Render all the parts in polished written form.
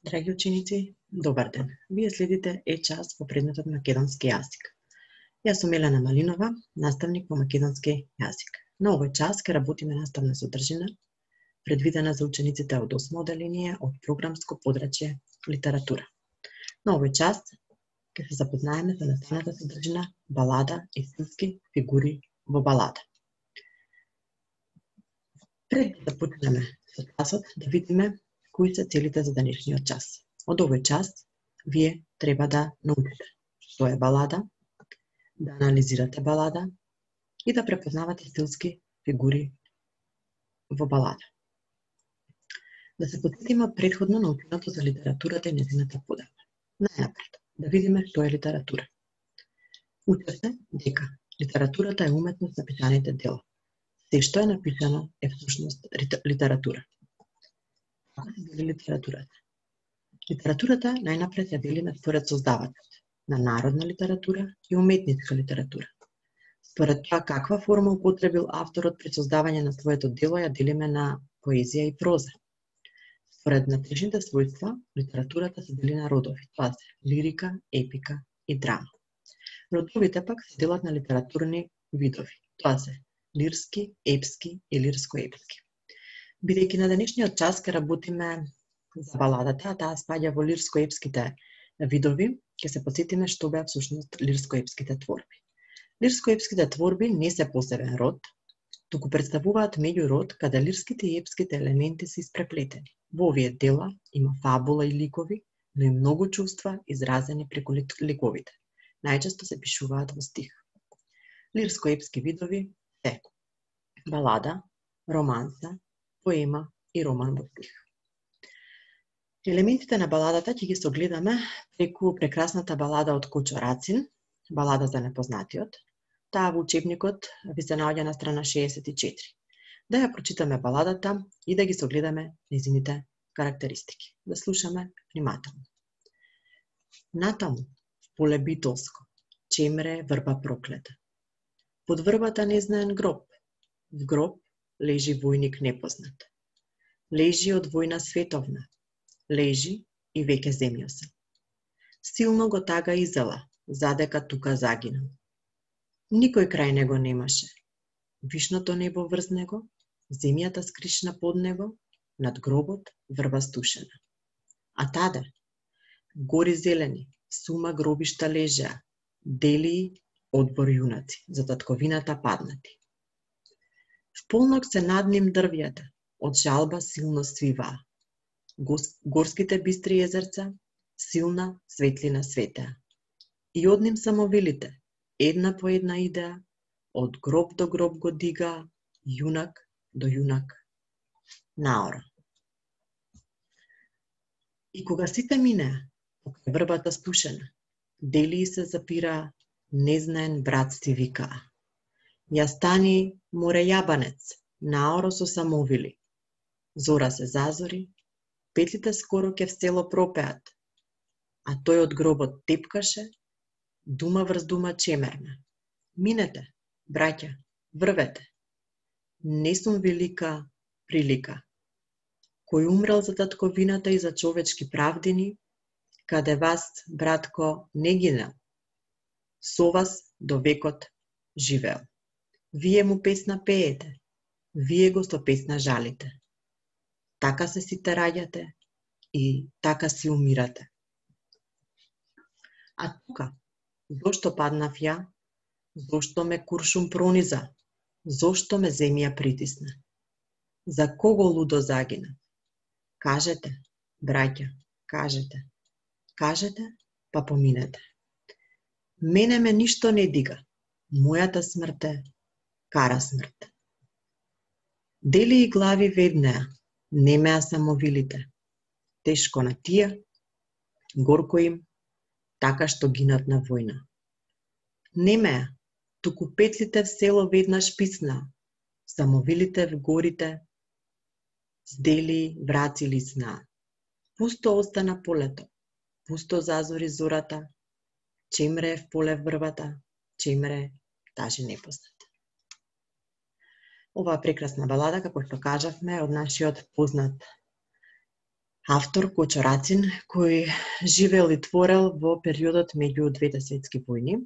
Драги ученици, добар ден. Вие следите час по предметот македонски јазик. Јас сум Елена Малинова, наставник по македонски јазик. На овој час ќе работиме наставна содржина, предвидена за учениците од 8 одделение од програмско подрачје литература. На овој час ќе се запознаеме со наставната содржина балада и стилски фигури во балада. Пред да почнеме со часот, да видиме кои се целите за денешниот час. Од овој час вие треба да научите што е балада, да анализирате балада и да препознавате стилски фигури во балада. Да се потсетиме претходно наученото за литературата и нејзината подела. Најнапред, да видиме што е литература. Учи се дека литературата е уметност на пишаните дела. Се што е напишано е всушност литература. Како се дели литературата? Литературата најнапред ја делиме според создавачот на народна литература и уметничка литература. Според тоа каква форма употребил авторот при создавање на своето дело ја делиме на поезија и проза. Според внатрешните својства, литературата се дели на родови. Тоа се лирика, епика и драма. Родовите пак се делат на литературни видови. Тоа се лирски, епски и лирско-епски. Бидејќи на денешниот час ќе работиме за баладата, а таа спаѓа во лирско-епските видови, ќе се потсетиме што беа всушност лирско-епските творби. Лирско-епските творби не се посебен род, туку представуваат меѓурод каде лирските и епските елементи се испреплетени. Во овие дела има фабула и ликови, но и многу чувства изразени преку ликовите. Најчесто се пишуваат во стих. Лирско-епски видови се балада, романса, поема и роман во стих. Елементите на баладата ќе ги согледаме преку прекрасната балада од Кочо Рацин, балада за непознатиот. Таа во учебникот ви се наоѓа на страна 64. Да ја прочитаме баладата и да ги согледаме нејзините карактеристики. Да слушаме внимателно. Натаму, в поле битолско, чемре врба проклета. Под врбата незнаен гроб. В гроб лежи војник непознат. Лежи од војна световна. Лежи и веќе земјо се. Силно го тага изела, задека тука загинал. Никој крај него немаше. Вишното небо врз него, земјата скришна под него, над гробот врба стушена. А таде, гори зелени, сума гробишта лежеа, делии одбор јунаци, за татковината паднати. В полнок се над ним дрвјата, од жалба силно свиваа. Горските бистри езерца, силна светлина светеа. И од ним самовилите, една по една идеа, од гроб до гроб го дигаа, јунак до јунак наора. И кога сите минеа, покрај врбата спушена, делии се запираа, незнаен брат си викаа. Ја стани, море јабанец, наоро со самовили. Зора се зазори, петлите скоро ке в село пропеат, а тој од гробот тепкаше, дума врз дума чемерна. Минете, браќа, врвете. Не сум велика прилика. Кој умрел за татковината и за човечки правдини, каде вас, братко, не гинел. Со вас до векот живеел. Вие му песна пеете, вие го со песна жалите. Така се сите раѓате и така си умирате. А тука, зошто паднав ја? Зошто ме куршум прониза? Зошто ме земја притисна? За кого лудо загина? Кажете, браќа, кажете. Кажете, па поминете. Мене ме ништо не дига. Мојата смрт е кара смрт. Дели и глави веднеа, немеа самовилите. Тешко на тие, горко им, така што гинат на војна. Немеа, туку петлите в село веднаш писнаа, самовилите в горите, здели враци лиснаа. Пусто остана полето, пусто зазори зората, чемре в поле врбата, чемре таже непознат. Оваа прекрасна балада, како што кажавме, од нашиот познат Автор Кочо Рацин, кој живеел и творел во периодот меѓу двете светски војни.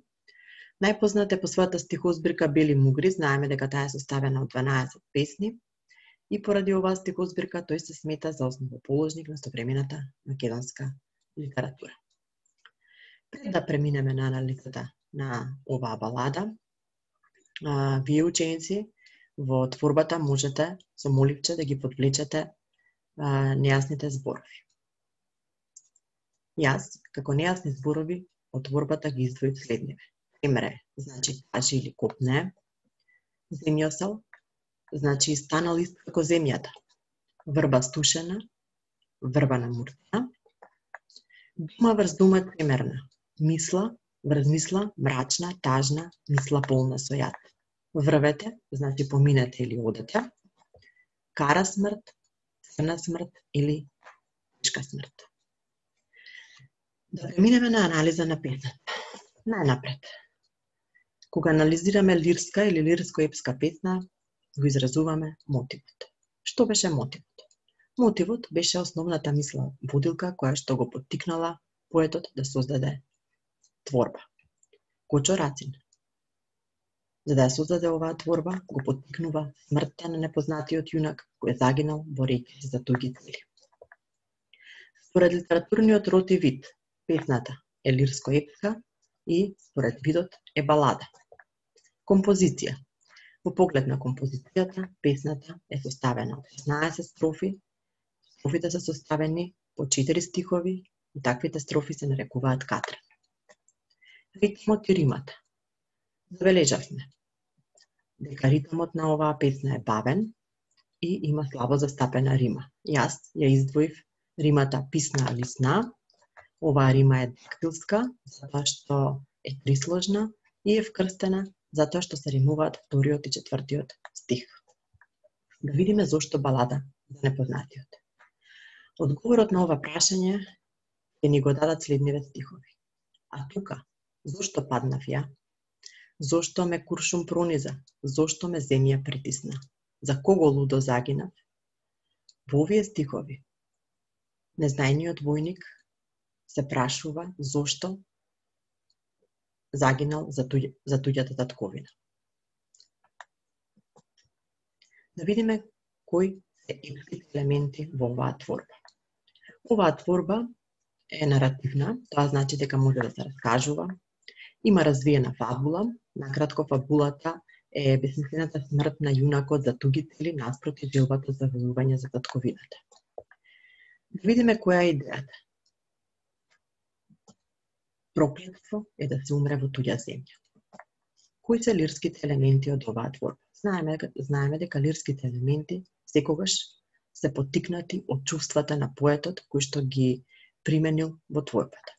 Најпознат е по својата стихозбирка Бели мугри, знаеме дека таа е составена од 12 песни и поради оваа стихозбирка тој се смета за основоположник на современата македонска литература. Пред да преминеме на анализата на оваа балада, вие ученици во творбата можете со моливче да ги подвлечете нејасните зборови. Јас, како нејасни зборови, од творбата ги издвоив следниве. Емре, значи кажи или копне. Земјосел, значи станал ист како земјата. Врба стушена, врба намуртена. Дума врз дума темерна. Мисла врз мисла мрачна, тажна, мисла полна со јад. Врвете, значи поминете или одете. Кара смрт, црна смрт или тешка смрт. Да преминеме на анализа на песната. Најнапред, кога анализираме лирска или лирско-епска песна, го изразуваме мотивот. Што беше мотивот? Мотивот беше основната мисла водилка која што го поттикнала поетот да создаде творба. Кочо Рацин, за да ја создаде оваа творба, го поттикнува смртта на непознатиот јунак кој загинал борејќи се за туги цели. Според литературниот род и вид, песната е лирско-епска и според видот е балада. Композиција. Во поглед на композицијата, песната е составена од 16 строфи. Строфите се составени по 4 стихови и таквите строфи се нарекуваат катрен. Ритмот и римата. Забележавме дека ритмот на оваа песна е бавен и има слабо застапена рима. Јас ја издвоив римата писна лисна. Оваа рима е дактилска, затоа што е трисложна и е вкрстена затоа што се римуваат вториот и четвртиот стих. Да видиме зошто балада за непознатиот. Одговорот на ова прашање ќе ни го дадат следниве стихови. А тука, зошто паднав ја? Зошто ме куршум прониза? Зошто ме земја притисна? За кого лудо загинав? Во овие стихови, незнајниот војник се прашува зошто загинал за туѓата татковина. Да видиме кои се епските елементи во оваа творба. Оваа творба е наративна, тоа значи дека може да се раскажува, има развиена фабула, накратко фабулата е бесмислената смрт на јунакот за туги цели наспроти желбата за војување за татковината. Да видиме која е идејата. Проклетство е да се умре во туѓа земја. Кои се лирските елементи од оваа творба? Знаеме дека лирските елементи секогаш се поттикнати од чувствата на поетот кој што ги применил во творбата.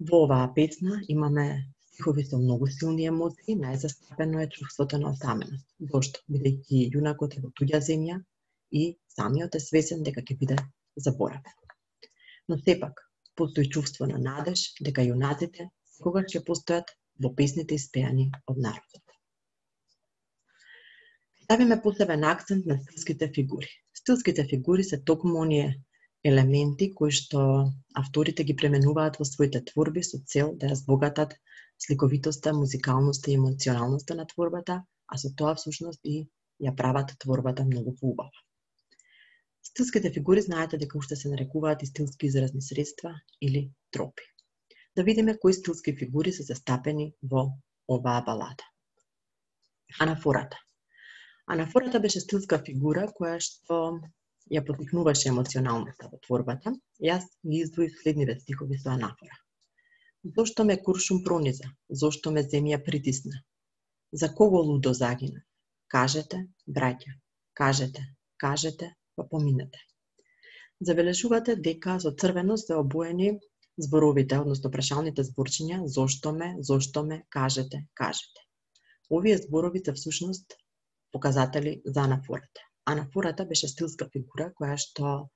Во оваа песна имаме стихови со многу силни емоции, најзастапено е чувството на осаменост. Зошто? Бидејќи јунакот е во туѓа земја и самиот е свесен дека ќе биде заборавен. Но сепак, постои чувство на надеж дека јунаците секогаш ќе постојат во песните испеани од народот. Ставиме посебен акцент на стилските фигури. Стилските фигури се токму оние елементи кои што авторите ги пременуваат во своите творби со цел да ја збогатат сликовитоста, музикалноста и емоционалноста на творбата, а со тоа всушност и ја прават творбата многу поубава. Стилските фигури знаете дека уште се нарекуваат и стилски изразни средства или тропи. Да видиме кои стилски фигури се застапени во оваа балада. Анафората. Анафората беше стилска фигура која што ја поттикнуваше емоционалноста во творбата. Јас ги издвоив следниве стихови со анафора. Зошто ме куршум прониза? Зошто ме земја притисна? За кого лудо загина? Кажете, браќа, кажете, па поминете. Забележувате дека со црвено се обоени зборовите, односно прашалните зборчиња зошто ме, кажете. Овие зборови се всушност показатели за анафората. Анафората беше стилска фигура која што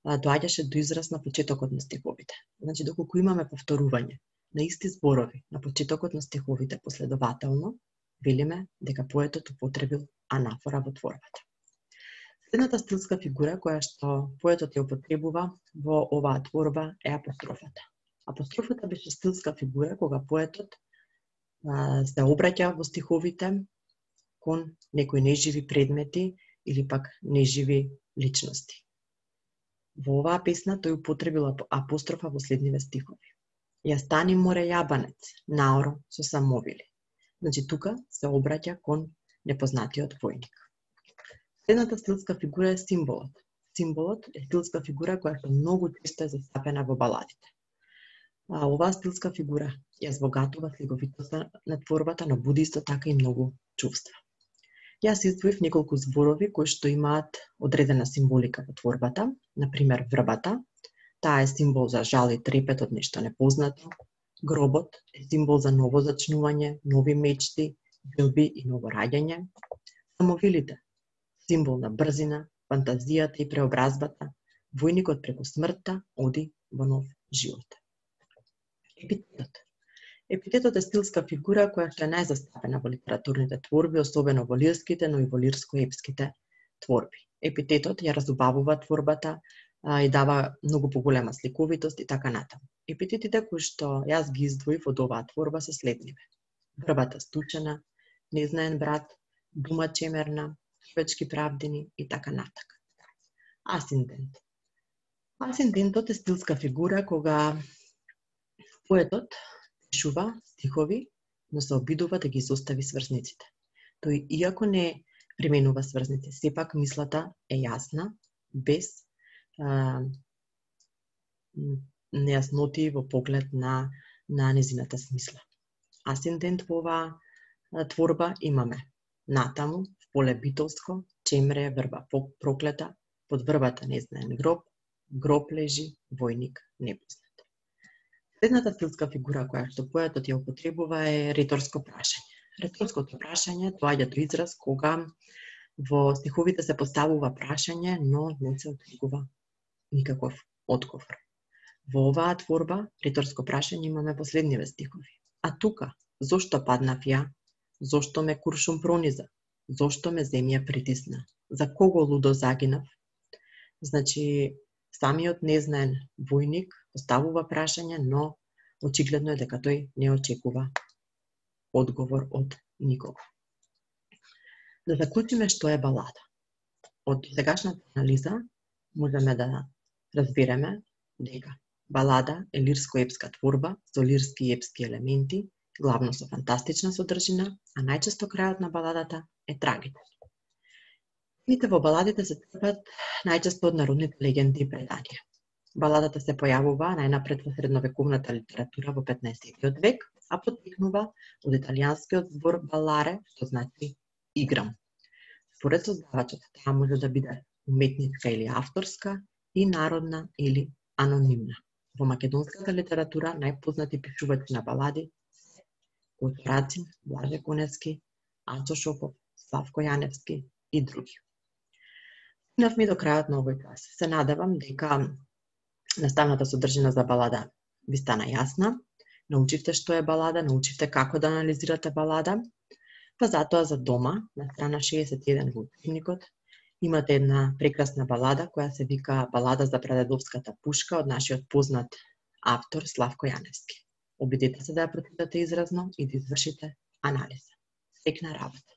доаѓаше до израз на почетокот на стиховите. Значи, доколку имаме повторување на исти зборови на почетокот на стиховите последователно, велиме дека поетот употребил анафора во творбата. Следната стилска фигура која што поетот ја употребува во оваа творба е апострофата. Апострофата беше стилска фигура кога поетот се обраќа во стиховите кон некои неживи предмети или пак неживи личности. Во оваа песна тој употребил апострофа во следниве стихови. Ја стани море јабанец, наоро со самовили. Значи тука се обраќа кон непознатиот војник. Следната стилска фигура е символот. Символот е стилска фигура која што многу често е застапена во баладите. Оваа стилска фигура ја збогатува сликовитоста на творбата, но буди исто така и многу чувства. Јас издвоив неколку зборови кои што имаат одредена символика во творбата, например врбата, таа е символ за жал и трепет од нешто непознато, гробот е символ за ново зачнување, нови мечти, желби и ново раѓање, самовилите символ на брзина, фантазијата и преобразбата, војникот преку смртта оди во нов живот. Епитетот. Епитетот е стилска фигура која што е најзастапена во литературните творби, особено во лирските, но и во лирско-епските творби. Епитетот ја разубавува творбата и дава многу поголема сликовитост и така натаму. Епитетите кои што јас ги издвоив од оваа творба се следниве: врбата стучена, незнаен брат, дума чемерна, човечки правдини и така натака. Асиндент. Асиндентот е стилска фигура кога поетот пишува стихови, но се обидува да ги изостави сврзниците. Тој, иако не применува сврзници, сепак мислата е јасна, без нејасноти во поглед на незината смисла. Асиндент во оваа творба имаме натаму, в поле битолско, чемре, врба проклета, под врбата незнаен гроб, гроб лежи, војник непознат. Следната стилска фигура која што поетот ја употребува е риторско прашање. Риторското прашање доаѓа до израз кога во стиховите се поставува прашање, но не се очекува никаков одговор. Во оваа творба риторско прашање имаме во следниве стихови. А тука, зошто паднав ја? Зошто ме куршум прониза? Зошто ме земја притисна? За кого лудо загинав? Значи, самиот незнаен војник поставува прашање, но очигледно е дека тој не очекува одговор од никого. Да заклучиме што е балада. Од сегашната анализа можеме да разбереме дека балада е лирско-епска творба со лирски и епски елементи, главно со фантастична содржина, а најчесто крајот на баладата е трагичен. Темите во баладите се црпат најчесто од народните легенди и преданија. Баладата се појавува најнапред во средновековната литература во 15 век, а потекнува од италијанскиот збор баларе, што значи играм. Според создавачот, таа може да биде уметничка или авторска и народна или анонимна. Во македонската литература најпознати пишувачи на балади се Коцо Рацин, Блаже Коневски, Ачо Шопов, Славко Јаневски и други. Стигнавме до крајот на овој час. Се надевам дека наставната содржина за балада ви стана јасна, научивте што е балада, научивте како да анализирате балада, па затоа за дома, на страна 61 во учебникот, имате една прекрасна балада која се вика Балада за прадедовската пушка од нашиот познат автор Славко Јаневски. Обидете се да ја прочитате изразно и да извршите анализа. Среќна работа!